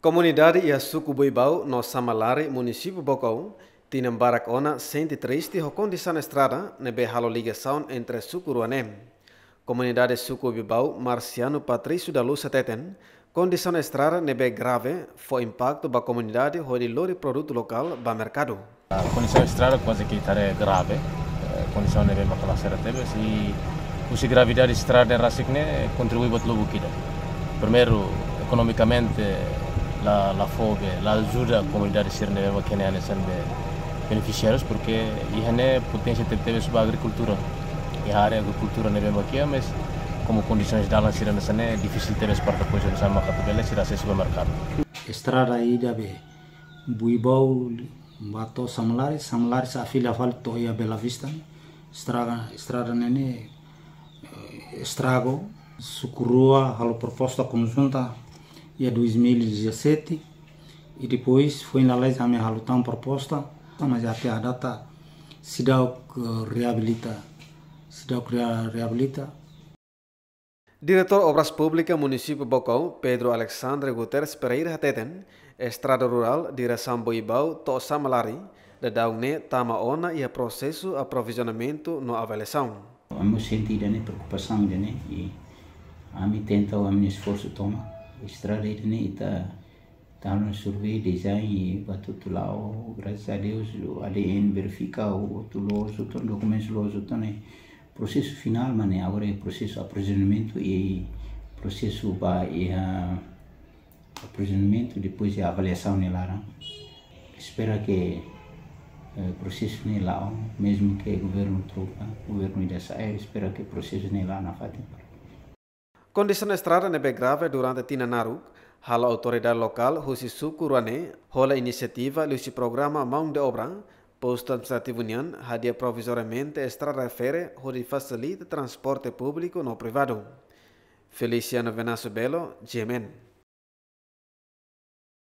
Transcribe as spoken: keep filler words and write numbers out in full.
Komunidade iha suku Buibau no Samalari, munisípiu Baucau, tinan barak ona sente triste ho kondisaun estrada ne'ebé halo ligasaun entre suku rua ne'e. Komunidade suku Buibau, Marciano Patrício da Luz hateten, kondisaun estrada ne'ebé grave fó impaktu ba komunidade hodi lori produtu lokál ba merkadu. Kondisaun estrada kuaze ke ita haree grave, eh, kondisaun ne'ebé maka la sira tebes, i husi gravidade estrada rasik ne'e kontribui buat lubuk ida. Primeiru, ekonomikamente la, la fó be, la ajuda komunidade sira ne'ebé maka iha ne'e hanesan be benefisiárius, porke iha ne'e poténsia tebetebes ba agrikultura. Iha área agrikultura ne'ebé maka iha, mas komu kondisaun dalan sira hanesan ne'e difisil tebes para depois hanesan maka atu bele sira asesu ba merkadu. Estrada ida be Buibau ba to'o Samalari, Samalari sa'e fila fali to'o iha Bela Vista. Estraga, estrada ne'e ne'e, eh, estragu. Suku rua halo proposta konjunta iha dois mil e dezassete, i depois foin lalais ami halo tan proposta, mas até à data seidauk, eh, reabilita, seidauk rea-, reabilita. Diretór Obras Públikas Munisípiu Baucau, Pedro Alexandre Guterres Pereira hateten, estrada rurál diresaun Buibau to'o Samalari, daudaun ne'e tama ona iha prosesu aprovizionamentu no avaliasaun. Ami sente ida-ne'e preokupasaun ida-ne'e, i ami tenta, ami esforsu tomak. Estrada ida-ne'e ita tau no survey, design, i ba hotu-hotu la'o, graças a Deus, o A D N verifika, o hotu loos hotu, dokumentus loos hotu, ne'e prosesu finál, mas ne'e agora é prosesu aprovizionamentu i prosesu ba iha aprovizionamentu, depois iha avaliasaun nia laran. Espera ke, eh, prosesu ne'e la'o, mezmu ke governu troka, governu ida sa'e, espera ke prosesu ne'e la'o nafatin. Kondisaun estrada ne'ebé grave durante tinan naruk, halo autoridade lokál husi suku rua ne'e hola inisiativa liuhusi programa maun de obra, postu administrativu nian, hadi'a provizoriamente estrada refere hodi fasilita transporte públiku no privadu. Feliciano Venâncio Belo, G M N.